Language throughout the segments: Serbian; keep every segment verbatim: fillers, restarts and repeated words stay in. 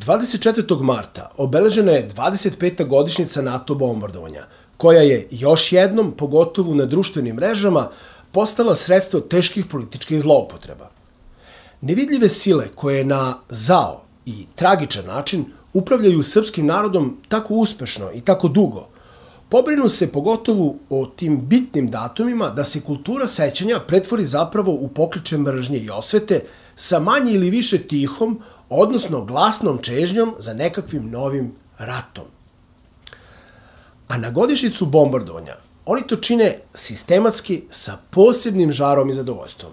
dvadeset četvrtog marta obeležena je dvadeset peta godišnjica NATO bombardovanja, koja je još jednom, pogotovo na društvenim mrežama, postala sredstvo teških političkih zloupotreba. Nevidljive sile koje na zao i tragičan način upravljaju srpskim narodom tako uspešno i tako dugo, pobrinu se pogotovo o tim bitnim datumima da se kultura sećanja pretvori zapravo u pokliče mržnje i osvete sa manje ili više tihom, odnosno glasnom čežnjom za nekakvim novim ratom. A na godišnjicu bombardovanja oni to čine sistematski sa posebnim žarom i zadovoljstvom.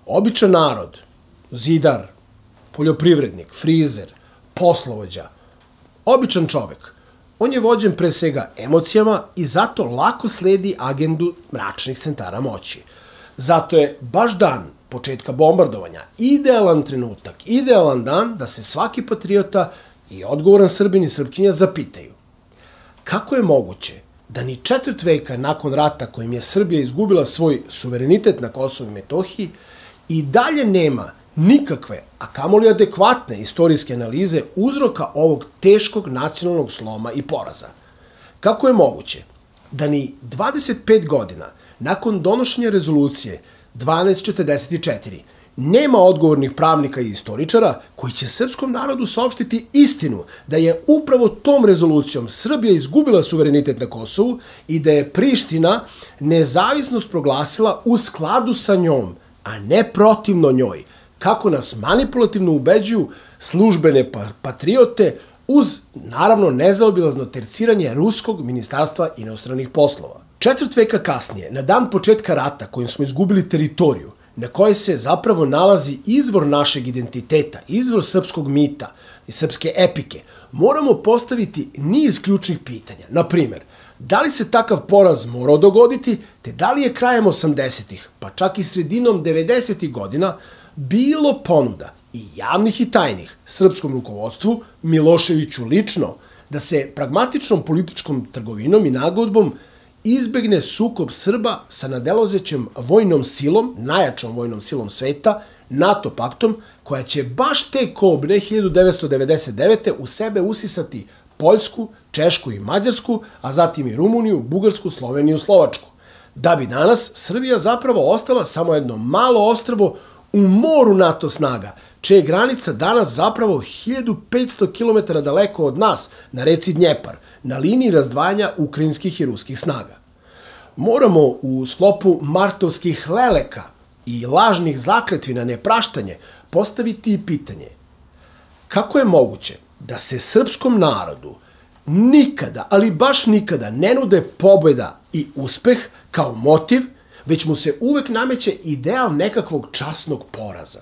Običan narod, zidar, poljoprivrednik, frizer, poslovođa, običan čovek, on je vođen pre svega emocijama i zato lako sledi agendu mračnih centara moći. Zato je baš dan početka bombardovanja idealan trenutak, idealan dan da se svaki patriota i odgovoran Srbin i Srpkinja zapitaju kako je moguće da ni četvrt veka nakon rata kojim je Srbija izgubila svoj suverenitet na Kosovu i Metohiji i dalje nema nikakve, a kamoli adekvatne istorijske analize uzroka ovog teškog nacionalnog sloma i poraza. Kako je moguće da ni dvadeset pet godina nakon donošenja rezolucije dvanaest četrdeset četiri nema odgovornih pravnika i istoričara koji će srpskom narodu saopštiti istinu da je upravo tom rezolucijom Srbija izgubila suverenitet na Kosovu i da je Priština nezavisnost proglasila u skladu sa njom, a ne protivno njoj, kako nas manipulativno ubeđuju službene patriote uz, naravno, nezaobilazno terciranje Ruskog ministarstva inostranih poslova. Četvrt veka kasnije, na dan početka rata kojim smo izgubili teritoriju, na kojoj se zapravo nalazi izvor našeg identiteta, izvor srpskog mita i srpske epike, moramo postaviti niz ključnih pitanja. Na primer, da li se takav poraz morao dogoditi, te da li je krajem osamdesetih, pa čak i sredinom devedesetih godina, bilo ponuda i javnih i tajnih srpskom rukovodstvu, Miloševiću lično, da se pragmatičnom političkom trgovinom i nagodbom izbegne sukob Srba sa nadelazećem vojnom silom, najjačom vojnom silom sveta, NATO paktom, koja će baš te kobre hiljadu devetsto devedeset devete u sebe usisati Poljsku, Češku i Mađarsku, a zatim i Rumuniju, Bugarsku, Sloveniju, Slovačku. Da bi danas Srbija zapravo ostala samo jedno malo ostrvo u moru NATO snaga, čija je granica danas zapravo hiljadu petsto kilometara daleko od nas, na reci Dnjepar, na liniji razdvajanja ukrajinskih i ruskih snaga. Moramo u sklopu martovskih leleka i lažnih zakletvi na nepraštanje postaviti i pitanje kako je moguće da se srpskom narodu nikada, ali baš nikada ne nude pobjeda i uspeh kao motiv, već mu se uvek nameće ideal nekakvog časnog poraza.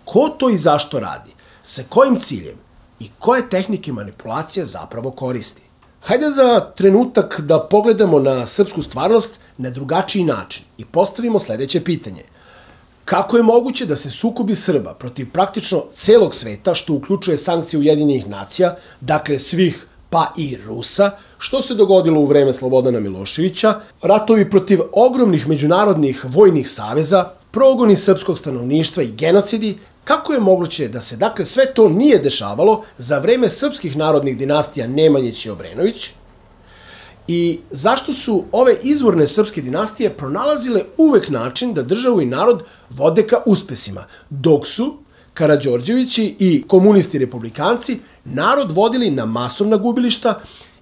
Ko to i zašto radi? Sa kojim ciljem? I koje tehnike manipulacija zapravo koristi? Hajde za trenutak da pogledamo na srpsku stvarnost na drugačiji način i postavimo sledeće pitanje. Kako je moguće da se sukobi Srba protiv praktično celog sveta, što uključuje sankcije Ujedinjenih nacija, dakle svih pa i Rusa, što se dogodilo u vreme Slobodana Miloševića, ratovi protiv ogromnih međunarodnih vojnih saveza, progoni srpskog stanovništva i genocidi, kako je moguće da se dakle sve to nije dešavalo za vreme srpskih narodnih dinastija Nemanjić i Obrenović i zašto su ove izvorne srpske dinastije pronalazile uvek način da državu i narod vode ka uspesima, dok su Karađorđevići i komunisti republikanci narod vodili na masovna gubilišta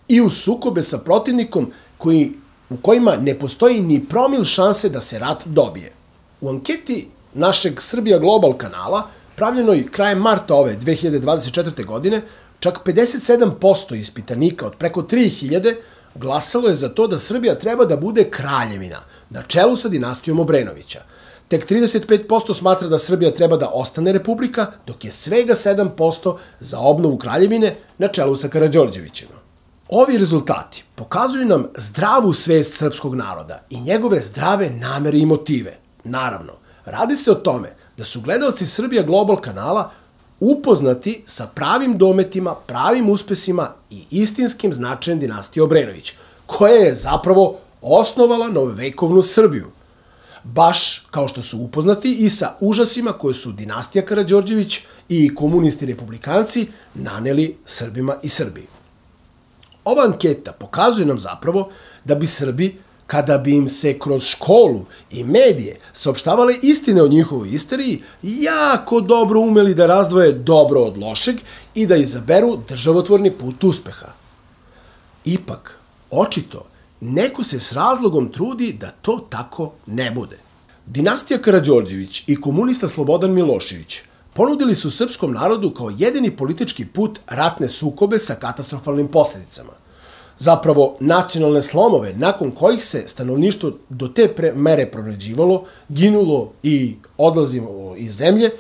i u sukobe sa protivnikom koji, u kojima ne postoji ni promil šanse da se rat dobije. U anketi našeg Srbija Global kanala, pravljenoj krajem marta ove dve hiljade dvadeset četvrte. godine, čak pedeset sedam posto ispitanika od preko tri hiljade glasalo je za to da Srbija treba da bude kraljevina, na čelu sa dinastijom Obrenovića. Tek trideset pet posto smatra da Srbija treba da ostane republika, dok je svega sedam posto za obnovu kraljevine na čelu sa Karađorđevićem. Ovi rezultati pokazuju nam zdravu svest srpskog naroda i njegove zdrave namere i motive. Naravno, radi se o tome da su gledaoci Srbija Global kanala upoznati sa pravim dometima, pravim uspesima i istinskim značajem dinastije Obrenović, koja je zapravo osnovala novovekovnu Srbiju. baš kao što su upoznati i sa užasima koje su dinastija Karađorđević i komunisti republikanci naneli Srbima i Srbiji. Ova anketa pokazuje nam zapravo da bi Srbi, kada bi im se kroz školu i medije saopštavale istine o njihovoj istoriji, jako dobro umeli da razdvoje dobro od lošeg i da izaberu državotvorni put uspeha. Ipak, očito, neko se s razlogom trudi da to tako ne bude. Dinastija Karađorđević i komunista Slobodan Milošević ponudili su srpskom narodu kao jedini politički put ratne sukobe sa katastrofalnim posljedicama. Zapravo, nacionalne slomove nakon kojih se stanovništvo do te mere proređivalo, ginulo i odlazilo iz zemlje,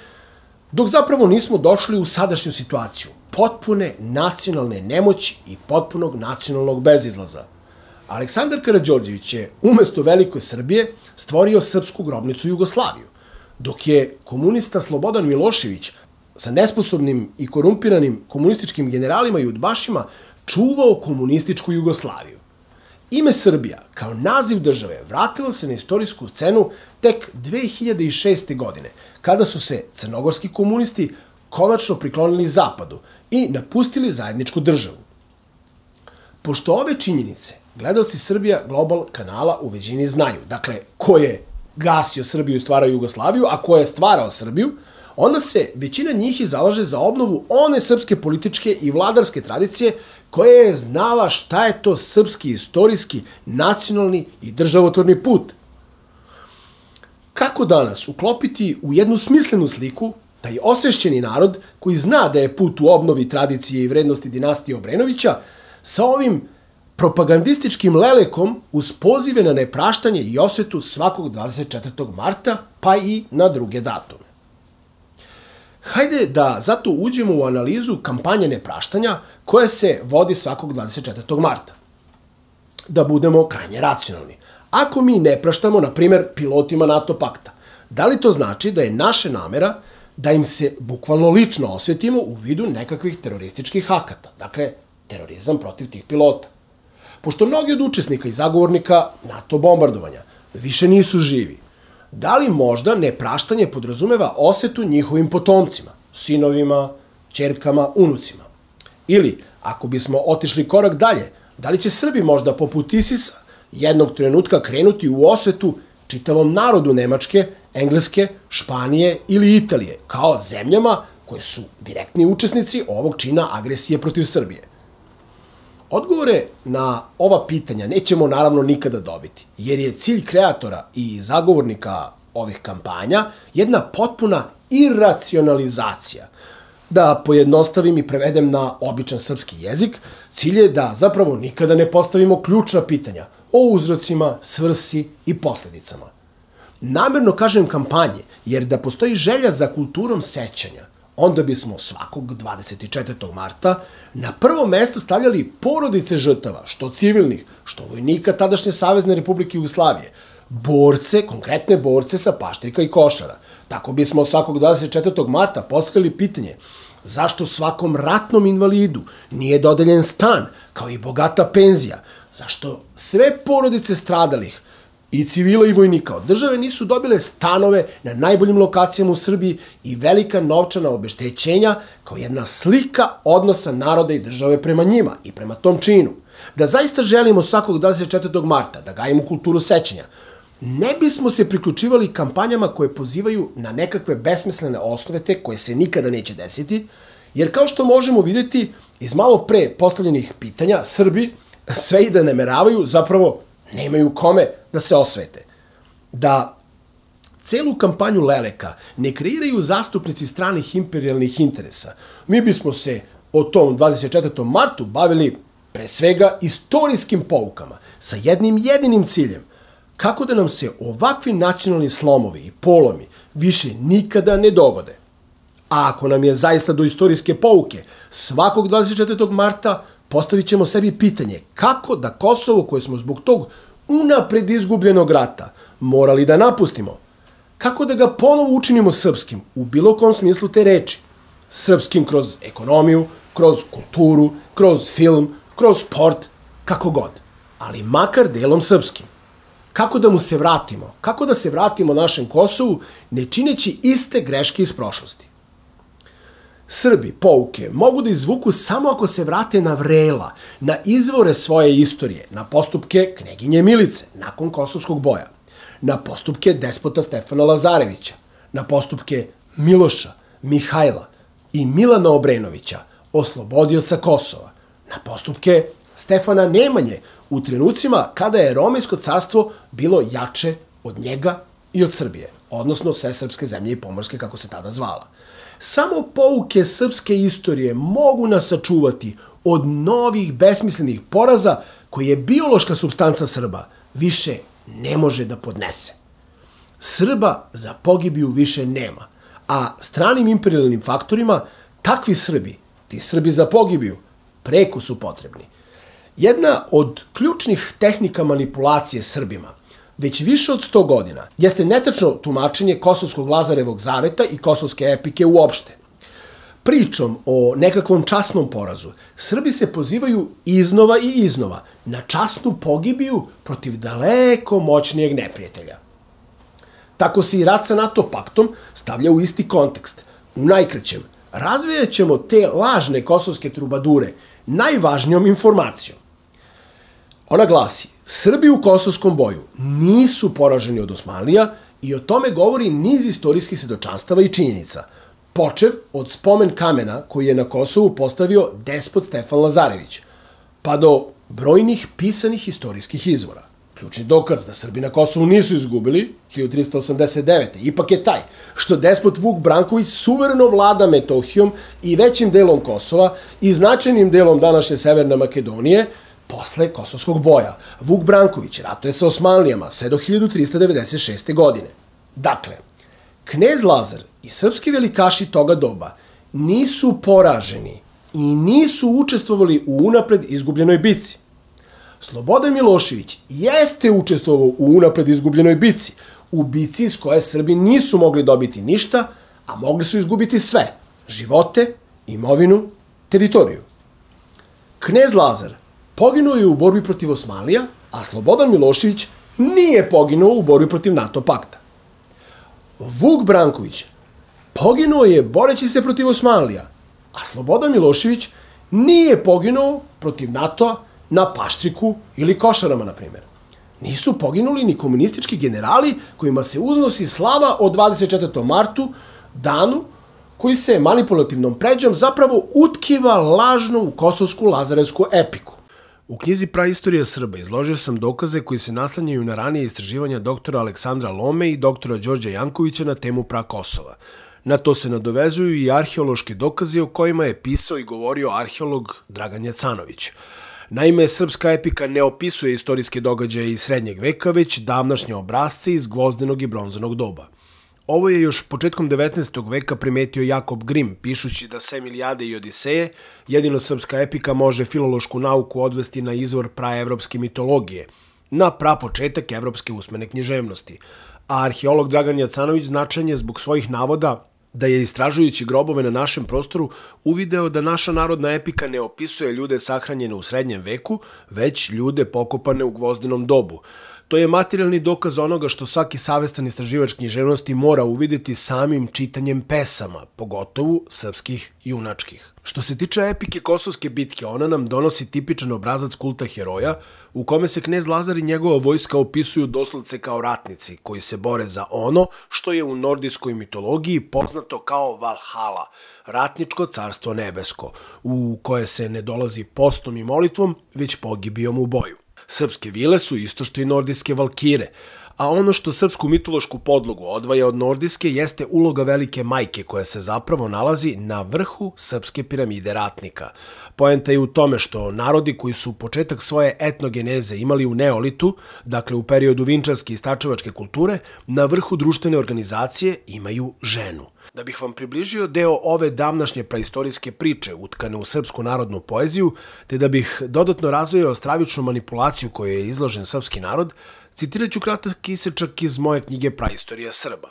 dok zapravo nismo došli u sadašnju situaciju potpune nacionalne nemoći i potpunog nacionalnog bezizlaza. Aleksandar Karađorđević je umesto Velike Srbije stvorio srpsku grobnicu Jugoslaviju, dok je komunista Slobodan Milošević sa nesposobnim i korumpiranim komunističkim generalima i udbašima čuvao komunističku Jugoslaviju. Ime Srbija kao naziv države vratilo se na istorijsku scenu tek dve hiljade šeste. godine, kada su se crnogorski komunisti konačno priklonili zapadu i napustili zajedničku državu. Pošto ove činjenice gledalci Srbija Global kanala u većini znaju, dakle, ko je gasio Srbiju i stvarao Jugoslaviju, a ko je stvarao Srbiju, onda se većina njih i zalaže za obnovu one srpske političke i vladarske tradicije koja je znala šta je to srpski, istorijski, nacionalni i državotvorni put. Kako danas uklopiti u jednu smislenu sliku taj osvešćeni narod koji zna da je put u obnovi tradicije i vrednosti dinastije Obrenovića sa ovim propagandističkim lelekom uz pozive na nepraštanje i osvetu svakog dvadeset četvrtog marta, pa i na druge datume. Hajde da zato uđemo u analizu kampanje nepraštanja koja se vodi svakog dvadeset četvrtog marta. Da budemo krajnje racionalni. Ako mi ne praštamo, na primjer, pilotima NATO pakta, da li to znači da je naša namera da im se bukvalno lično osvetimo u vidu nekakvih terorističkih akata, dakle, terorizam protiv tih pilota? Pošto mnogi od učesnika i zagovornika NATO bombardovanja više nisu živi, da li možda nepraštanje podrazumeva osvetu njihovim potomcima, sinovima, ćerkama, unucima? Ili, ako bismo otišli korak dalje, da li će Srbi možda poput Isisa jednog trenutka krenuti u osvetu čitavom narodu Nemačke, Engleske, Španije ili Italije, kao zemljama koje su direktni učesnici ovog čina agresije protiv Srbije? Odgovore na ova pitanja nećemo naravno nikada dobiti, jer je cilj kreatora i zagovornika ovih kampanja jedna potpuna iracionalizacija. Da pojednostavim i prevedem na običan srpski jezik, cilj je da zapravo nikada ne postavimo ključna pitanja o uzrocima, svrsi i posledicama. Namerno kažem kampanje, jer da postoji želja za kulturom sećanja, onda bismo svakog dvadeset četvrtog marta na prvo mesto stavljali porodice žrtava, što civilnih, što vojnika tadašnje Savezne Republike Jugoslavije, borce, konkretne borce sa Paštrika i Košara. Tako bismo svakog dvadeset četvrtog marta postavili pitanje zašto svakom ratnom invalidu nije dodeljen stan, kao i bogata penzija, zašto sve porodice stradalih i civila i vojnika od države nisu dobile stanove na najboljim lokacijama u Srbiji i velika novčana obeštećenja kao jedna slika odnosa naroda i države prema njima i prema tom činu. Da zaista želimo svakog dvadeset četvrtog marta da gajimo kulturu sećanja, ne bismo se priključivali kampanjama koje pozivaju na nekakve besmislene osvete koje se nikada neće desiti, jer kao što možemo vidjeti iz malo pre postavljenih pitanja, Srbi sve i da nameravaju zapravo nemaju kome da se osvete. Da celu kampanju leleka ne kreiraju zastupnici stranih imperijalnih interesa, mi bismo se o tom dvadeset četvrtom martu bavili pre svega istorijskim poukama sa jednim jedinim ciljem, kako da nam se ovakvi nacionalni slomovi i polomi više nikada ne dogode. A ako nam je zaista do istorijske pouke, svakog dvadeset četvrtog marta postavit ćemo sebi pitanje kako da Kosovo, koje smo zbog tog unapred izgubljenog rata morali da napustimo, kako da ga ponovo učinimo srpskim u bilo kom smislu te reči. Srpskim kroz ekonomiju, kroz kulturu, kroz film, kroz sport, kako god, ali makar delom srpskim. Kako da mu se vratimo? Kako da se vratimo našem Kosovu ne čineći iste greške iz prošlosti? Srbi pouke mogu da izvuku samo ako se vrate na vrela, na izvore svoje istorije, na postupke kneginje Milice nakon Kosovskog boja, na postupke despota Stefana Lazarevića, na postupke Miloša, Mihajla i Milana Obrenovića, oslobodioca Kosova, na postupke Stefana Nemanje u trenucima kada je Romejsko carstvo bilo jače od njega i od Srbije, odnosno sve srpske zemlje i pomorske kako se tada zvala. Samo pouke srpske istorije mogu nas sačuvati od novih besmislenih poraza koje je biološka supstanca Srba više ne može da podnese. Srba za pogibiju više nema, a stranim imperialnim faktorima takvi Srbi, ti Srbi za pogibiju, preko su potrebni. Jedna od ključnih tehnika manipulacije Srbima već više od sto godina jeste netačno tumačenje Kosovskog Lazarevog zaveta i kosovske epike uopšte. Pričom o nekakvom časnom porazu, Srbi se pozivaju iznova i iznova na časnu pogibiju protiv daleko moćnijeg neprijatelja. Tako se i rat sa NATO paktom stavlja u isti kontekst. U najkraćem, razvijat ćemo te lažne kosovske trubadure najvažnijom informacijom. Ona glasi, Srbi u kosovskom boju nisu poraženi od Osmanlija i o tome govori niz istorijskih svedočanstava i činjenica, počev od spomen kamena koji je na Kosovu postavio despot Stefan Lazarević, pa do brojnih pisanih istorijskih izvora. Ključni dokaz da Srbi na Kosovu nisu izgubili, hiljadu trista osamdeset devete. ipak je taj što despot Vuk Branković suvereno vlada Metohijom i većim delom Kosova i značajnim delom današnje Severne Makedonije posle Kosovskog boja. Vuk Branković ratuje sa Osmanlijama sve do hiljadu trista devedeset šeste. godine. Dakle, knez Lazar i srpski velikaši toga doba nisu poraženi i nisu učestvovali u unapred izgubljenoj bici. Slobodan Milošević jeste učestvovao u unapred izgubljenoj bici, u bici iz koje Srbi nisu mogli dobiti ništa, a mogli su izgubiti sve, živote, imovinu, teritoriju. Knez Lazar poginuo je u borbi protiv Osmanlija, a Slobodan Milošević nije poginuo u borbi protiv NATO pakta. Vuk Branković poginuo je boreći se protiv Osmanlija, a Slobodan Milošević nije poginuo protiv NATO-a na Paštriku ili Košarama, na primjer. Nisu poginuli ni komunistički generali kojima se uznosi slava o dvadeset četvrtom martu, danu koji se manipulativnom pređom zapravo utkiva lažno u kosovsku lazarevsku epiku. U knjizi Praistorija Srba izložio sam dokaze koji se naslanjaju na ranije istraživanja doktora Aleksandra Lome i doktora Đorđa Jankovića na temu Prakosova. Na to se nadovezuju i arheološki dokazi o kojima je pisao i govorio arheolog Dragan Jacanović. Naime, srpska epika ne opisuje istorijske događaje iz srednjeg veka, već davnašnje obrazce iz gvozdenog i bronzanog doba. Ovo je još početkom devetnaestog veka primetio Jakob Grim, pišući da sem Ilijade i Odiseje, jedino srpska epika može filološku nauku odvesti na izvor praevropske mitologije, na prapočetak evropske usmene književnosti. A arheolog Dragan Jacanović značajan je zbog svojih navoda da je istražujući grobove na našem prostoru uvideo da naša narodna epika ne opisuje ljude sahranjene u srednjem veku, već ljude pokopane u gvozdenom dobu. To je materijalni dokaz onoga što svaki savestan istraživač književnosti mora uvideti samim čitanjem pesama, pogotovo srpskih junačkih. Što se tiče epike Kosovske bitke, ona nam donosi tipičan obrazac kulta heroja, u kome se knez Lazar i njegova vojska opisuju doslovce kao ratnici, koji se bore za ono što je u nordijskoj mitologiji poznato kao Valhalla, ratničko carstvo nebesko, u koje se ne dolazi postom i molitvom, već pogibijom u boju. Srpske vile su isto što i nordijske valkire, a ono što srpsku mitološku podlogu odvaja od nordijske jeste uloga velike majke koja se zapravo nalazi na vrhu srpske piramide ratnika. Poenta je u tome što narodi koji su početak svoje etnogeneze imali u neolitu, dakle u periodu vinčarske i stačevačke kulture, na vrhu društvene organizacije imaju ženu. Da bih vam približio deo ove davnašnje praistorijske priče utkane u srpsku narodnu poeziju, te da bih dodatno razvijao stravičnu manipulaciju koju je izložen srpski narod, citirat ću kratak isečak iz moje knjige Praistorija Srba.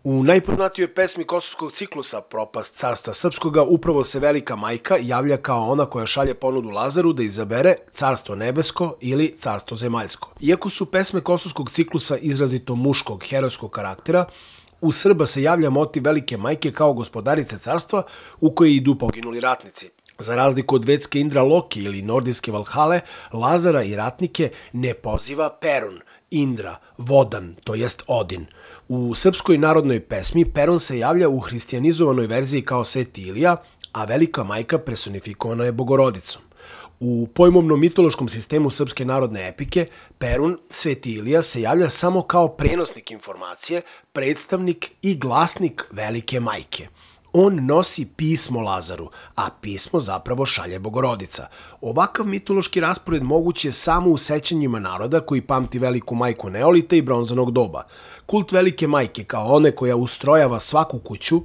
U najpoznatijoj pesmi kosovskog ciklusa Propast carstva srpskoga upravo se Velika majka javlja kao ona koja šalje ponudu Lazaru da izabere carstvo nebesko ili carstvo zemaljsko. Iako su pesme kosovskog ciklusa izrazito muškog, herojskog karaktera, u Srba se javlja motiv Velike majke kao gospodarice carstva u koje idu poginuli ratnici. Za razliku od vedske Indra Loki ili nordijske Valhale, Lazara i ratnike ne poziva Perun, Indra, Vodan, to jest Odin. U srpskoj narodnoj pesmi Perun se javlja u hristijanizovanoj verziji kao Sveti Ilija, a Velika majka personifikovana je Bogorodicom. U pojmovnom mitološkom sistemu srpske narodne epike, Perun, Sveti Ilija, se javlja samo kao prenosnik informacije, predstavnik i glasnik Velike majke. On nosi pismo Lazaru, a pismo zapravo šalje Bogorodica. Ovakav mitološki raspored moguć je samo u sećanjima naroda koji pamti Veliku majku neolita i bronzanog doba. Kult Velike majke, kao one koja ustrojava svaku kuću,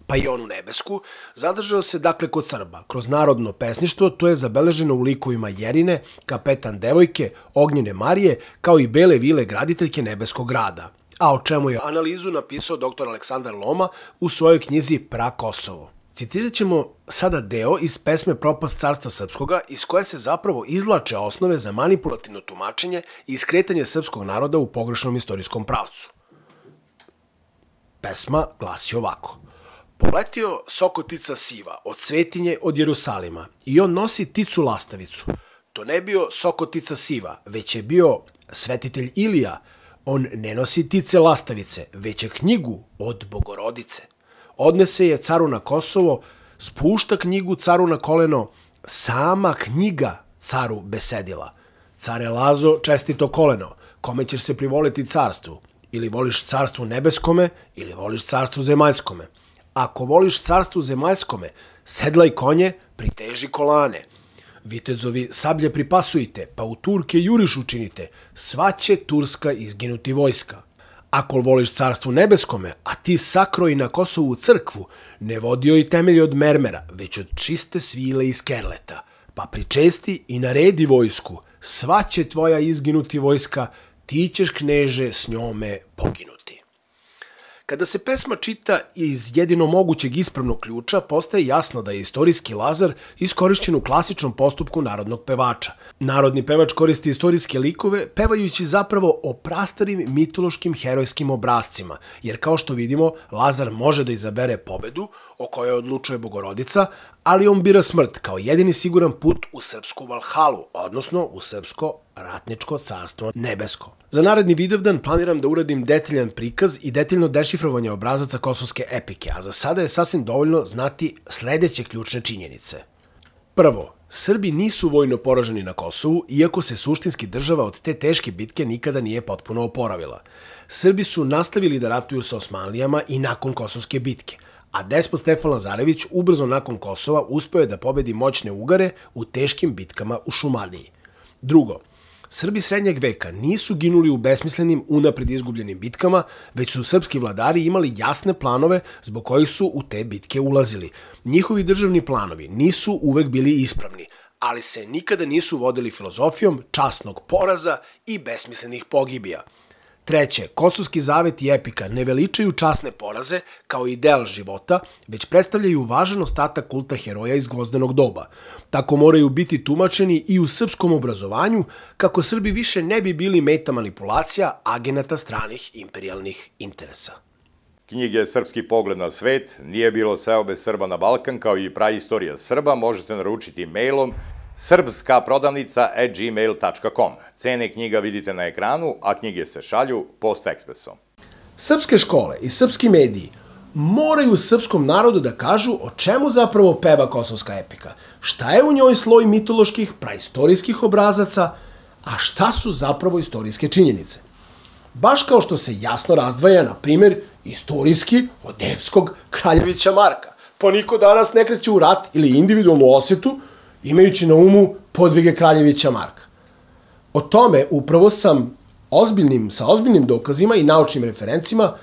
pa i onu nebesku, zadržao se dakle kod Srba. Kroz narodno pesništvo to je zabeleženo u likovima Jerine, kapetan devojke, Ognjene Marije, kao i bele vile graditeljke nebeskog grada, a o čemu je analizu napisao doktor Aleksandar Loma u svojoj knjizi Pra Kosovo. Citirat ćemo sada deo iz pesme Propast carstva srpskoga, iz koje se zapravo izvlače osnove za manipulativno tumačenje i skretanje srpskog naroda u pogrešnom istorijskom pravcu. Pesma glasi ovako. Poletio sokotica siva od svetinje od Jerusalima i on nosi ticu lastavicu. To ne bio sokotica siva, već je bio svetitelj Ilija. On ne nosi tice lastavice, već je knjigu od Bogorodice. Odnese je caru na Kosovo, spušta knjigu caru na koleno, sama knjiga caru besedila. Care Lazo, čestito koleno, kome ćeš se privoliti carstvu? Ili voliš carstvu nebeskome, ili voliš carstvu zemaljskome? Ako voliš carstvu zemaljskome, sedlaj konje, priteži kolane. Vitezovi sablje pripasujte, pa u Turke juriš učinite, sva će Turska izginuti vojska. Ako voliš carstvu nebeskome, a ti sakroji na Kosovu crkvu, ne vodio i temelje od mermera, već od čiste svile iz kerleta, pa pričesti i naredi vojsku, sva će tvoja izginuti vojska, ti ćeš kneže s njome poginuti. Kada se pesma čita iz jedino mogućeg ispravnog ključa, postaje jasno da je istorijski Lazar iskorišćen u klasičnom postupku narodnog pevača. Narodni pevač koristi istorijske likove, pevajući zapravo o prastarim mitološkim herojskim obrazcima, jer kao što vidimo, Lazar može da izabere pobedu, o kojoj odlučuje Bogorodica, ali on bira smrt kao jedini siguran put u srpsku Valhalu, odnosno u srpsko ratničko carstvo nebesko. Za naredni Vidovdan planiram da uradim detaljan prikaz i detaljno dešifrovanje obrazaca kosovske epike, a za sada je sasvim dovoljno znati sledeće ključne činjenice. Prvo, Srbi nisu vojno poraženi na Kosovu, iako se suštinski država od te teške bitke nikada nije potpuno oporavila. Srbi su nastavili da ratuju sa Osmanlijama i nakon Kosovske bitke, a despot Stefan Lazarević ubrzo nakon Kosova uspeo je da pobedi moćne Ugare u teškim bitkama u Šumadiji. Drugo, Srbi srednjeg veka nisu ginuli u besmislenim, unapred izgubljenim bitkama, već su srpski vladari imali jasne planove zbog kojih su u te bitke ulazili. Njihovi državni planovi nisu uvek bili ispravni, ali se nikada nisu vodili filozofijom časnog poraza i besmislenih pogibija. Treće, Kosovski zavet i epika ne veličaju časne poraze kao ideal života, već predstavljaju važan ostatak kulta heroja iz gvozdenog doba. Tako moraju biti tumačeni i u srpskom obrazovanju, kako Srbi više ne bi bili meta manipulacija agenata stranih imperijalnih interesa. Knjige Srpski pogled na svet, Nije bilo seobe Srba na Balkan, kao i Praistorija Srba možete naručiti mailom srpska prodavnica at gmail tačka com. Cene knjiga vidite na ekranu, a knjige se šalju post-ekspresom. Srpske škole i srpski mediji moraju srpskom narodu da kažu o čemu zapravo peva kosovska epika, šta je u njoj sloj mitoloških, praistorijskih obrazaca, a šta su zapravo istorijske činjenice. Baš kao što se jasno razdvaja, na primjer, istorijski od epskog Kraljevića Marka, pa niko danas ne kreće u rat ili individualnu osvetu, imajući na umu podvige Kraljevića Marka. O tome upravo sam ozbiljnim, sa ozbiljnim dokazima i naučnim referencima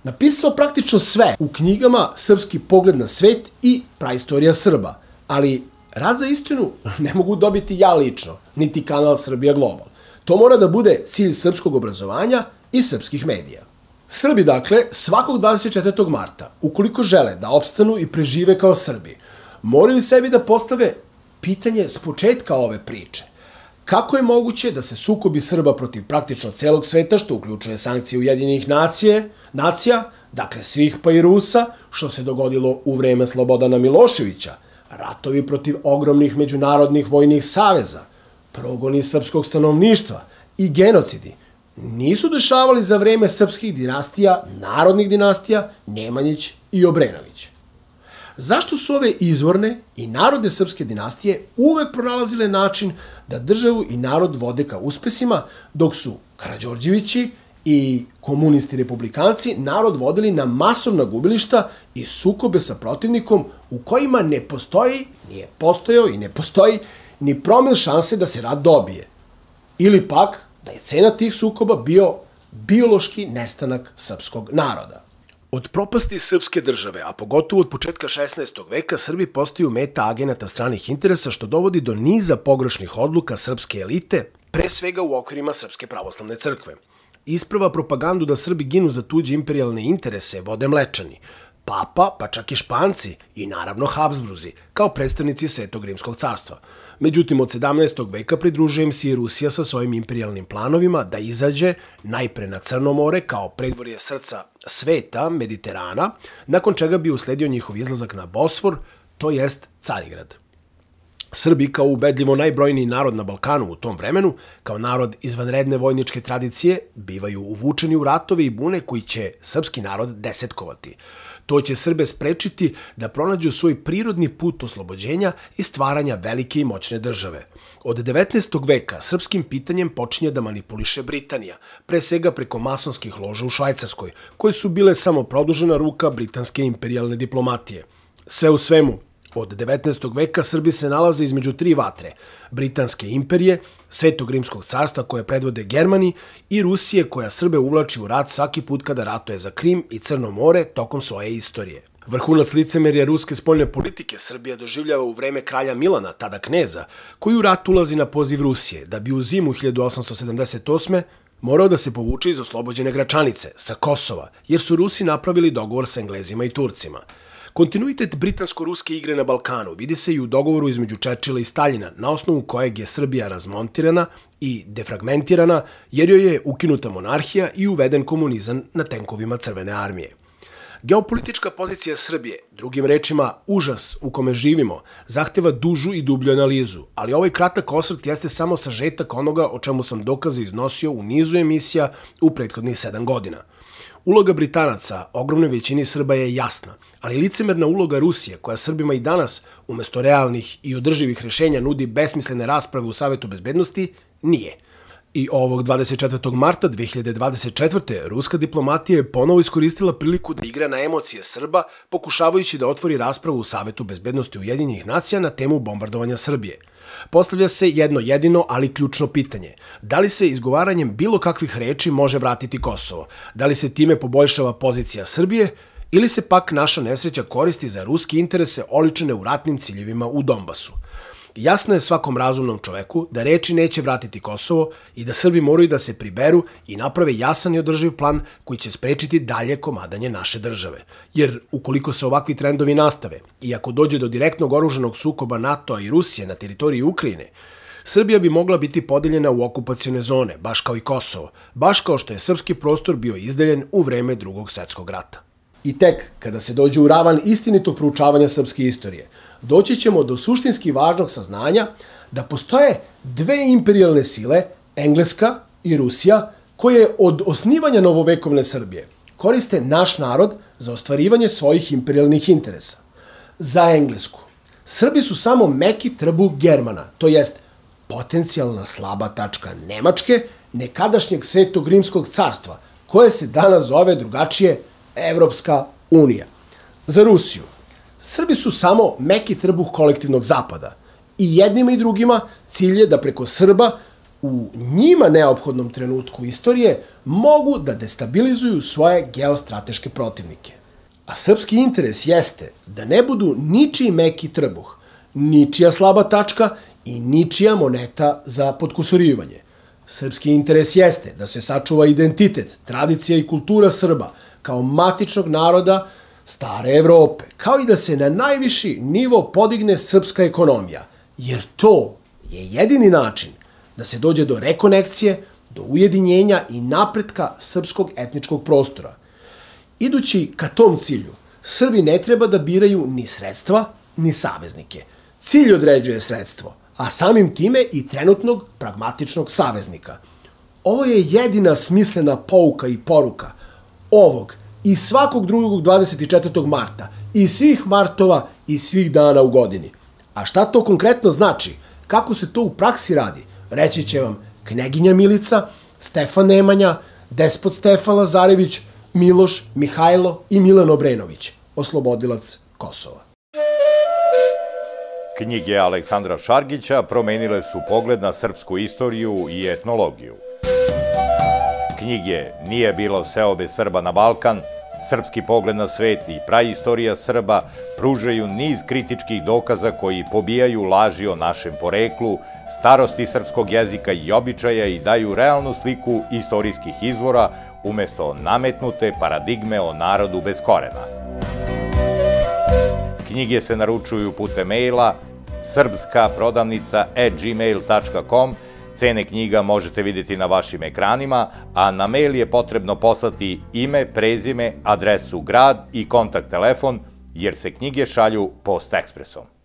napisao praktično sve u knjigama Srpski pogled na svet i Praistorija Srba, ali rad za istinu ne mogu dobiti ja lično, niti kanal Srbija Global. To mora da bude cilj srpskog obrazovanja i srpskih medija. Srbi, dakle, svakog dvadeset četvrtog marta, ukoliko žele da opstanu i prežive kao Srbi, moraju sebi da postave pitanje s početka ove priče. Kako je moguće da se sukobi Srba protiv praktično celog sveta, što uključuje sankcije Ujedinjenih nacije, nacija, dakle svih pa i Rusa, što se dogodilo u vreme Slobodana Miloševića, ratovi protiv ogromnih međunarodnih vojnih saveza, progoni srpskog stanovništva i genocidi, nisu dešavali za vreme srpskih dinastija, narodnih dinastija, Nemanjić i Obrenović. Zašto su ove izvorne i narodne srpske dinastije uvek pronalazile način da državu i narod vode ka uspesima, dok su Karađorđevići i komunisti republikanci narod vodili na masovna gubilišta i sukobe sa protivnikom u kojima ne postoji, nije postojao i ne postoji ni promil šanse da se rat dobije. Ili pak da je cena tih sukoba bio biološki nestanak srpskog naroda. Od propasti srpske države, a pogotovo od početka šesnaestog veka, Srbi postaju meta agenata stranih interesa, što dovodi do niza pogrešnih odluka srpske elite, pre svega u okvirima Srpske pravoslavne crkve. Isprva propagandu da Srbi ginu za tuđe imperijalne interese vode Mlečani, Papa, pa čak i Španci i naravno Habsburzi, kao predstavnici Svetog rimskog carstva. Međutim, od sedamnaestog veka pridružuje im se i Rusija sa svojim imperijalnim planovima da izađe najpre na Crno more kao predvorje srca sveta, Mediterana, nakon čega bi usledio njihov izlazak na Bosfor, to jest Carigrad. Srbi, kao ubedljivo najbrojniji narod na Balkanu u tom vremenu, kao narod izvanredne vojničke tradicije, bivaju uvučeni u ratove i bune koji će srpski narod desetkovati. To će Srbe sprečiti da pronađu svoj prirodni put oslobođenja i stvaranja velike i moćne države. Od devetnaestog veka srpskim pitanjem počinje da manipuliše Britanija, pre svega preko masonskih loža u Švajcarskoj, koje su bile samo produžena ruka britanske imperijalne diplomatije. Sve u svemu, od devetnaestog veka Srbi se nalaze između tri vatre, Britanske imperije, Svetog rimskog carstva koje predvode Germani i Rusije koja Srbe uvlači u rat svaki put kada ratuje za Krim i Crno more tokom svoje istorije. Vrhunac licemerja ruske spoljne politike Srbija doživljava u vreme kralja Milana, tada kneza, koji u rat ulazi na poziv Rusije, da bi u zimu hiljadu osamsto sedamdeset osme morao da se povuče iz oslobođene Gračanice, sa Kosova, jer su Rusi napravili dogovor sa Englezima i Turcima. Kontinuitet britansko-ruske igre na Balkanu vidi se i u dogovoru između Čerčila i Staljina, na osnovu kojeg je Srbija razmontirana i defragmentirana, jer joj je ukinuta monarhija i uveden komunizam na tenkovima Crvene armije. Geopolitička pozicija Srbije, drugim rečima užas u kome živimo, zahteva dužu i dublju analizu, ali ovaj kratak osvrt jeste samo sažetak onoga o čemu sam dokaze iznosio u nizu emisija u prethodnih sedam godina. Uloga Britanaca ogromnoj većini Srba je jasna, ali licemerna uloga Rusije, koja Srbima i danas, umesto realnih i održivih rešenja, nudi besmislene rasprave u Savetu bezbednosti, nije. I ovog dvadeset četvrtog marta dve hiljade dvadeset četvrte. ruska diplomatija je ponovo iskoristila priliku da igra na emocije Srba, pokušavajući da otvori raspravu u Savetu bezbednosti Ujedinjenih nacija na temu bombardovanja Srbije. Postavlja se jedno jedino, ali ključno pitanje. Da li se izgovaranjem bilo kakvih reči može vratiti Kosovo? Da li se time poboljšava pozicija Srbije? Ili se pak naša nesreća koristi za ruske interese oličene u ratnim ciljevima u Donbasu? Jasno je svakom razumnom čoveku da reči neće vratiti Kosovo i da Srbi moraju da se priberu i naprave jasan i održiv plan koji će sprečiti dalje komadanje naše države. Jer ukoliko se ovakvi trendovi nastave i ako dođe do direktnog oružanog sukoba NATO-a i Rusije na teritoriji Ukrajine, Srbija bi mogla biti podeljena u okupacione zone, baš kao i Kosovo, baš kao što je srpski prostor bio izdeljen u vreme Drugog svetskog rata. I tek kada se dođe u ravan istinitog proučavanja srpske istorije, doći ćemo do suštinski važnog saznanja da postoje dve imperijalne sile, Engleska i Rusija, koje od osnivanja novovekovne Srbije koriste naš narod za ostvarivanje svojih imperijalnih interesa. Za Englesku, Srbi su samo meki trbuh Germana, to jest potencijalna slaba tačka Nemačke, nekadašnjeg Svetog rimskog carstva, koje se danas zove drugačije Evropska unija. Za Rusiju, Srbi su samo meki trbuh kolektivnog zapada i jednima i drugima cilj je da preko Srba u njima neophodnom trenutku istorije mogu da destabilizuju svoje geostrateške protivnike. A srpski interes jeste da ne budu ničiji meki trbuh, ničija slaba tačka i ničija moneta za potkusurivanje. Srpski interes jeste da se sačuva identitet, tradicija i kultura Srba kao matičnog naroda stare Evrope, kao i da se na najviši nivo podigne srpska ekonomija, jer to je jedini način da se dođe do rekonekcije, do ujedinjenja i napretka srpskog etničkog prostora. Idući ka tom cilju, Srbi ne treba da biraju ni sredstva, ni saveznike. Cilj određuje sredstvo, a samim time i trenutnog pragmatičnog saveznika. Ovo je jedina smislena pouka i poruka ovog i svakog drugog dvadeset četvrtog marta i svih martova i svih dana u godini. A šta to konkretno znači? Kako se to u praksi radi? Reći će vam Kneginja Milica, Stefan Nemanja, Despot Stefan Lazarević, Miloš, Mihajlo i Milan Obrenović, oslobodilac Kosova. Knjige Aleksandra Šargića promenile su pogled na srpsku istoriju i etnologiju. Knjige Nije bilo seobe Srba na Balkan, Srpski pogled na svet i praistorija Srba pružaju niz kritičkih dokaza koji pobijaju laži o našem poreklu, starosti srpskog jezika i običaja i daju realnu sliku istorijskih izvora umesto nametnute paradigme o narodu bez korena. Knjige se naručuju putem maila srpska prodavnica at gmail tačka com. Cene knjiga možete vidjeti na vašim ekranima, a na mail je potrebno poslati ime, prezime, adresu, grad i kontakt telefon, jer se knjige šalju post ekspresom.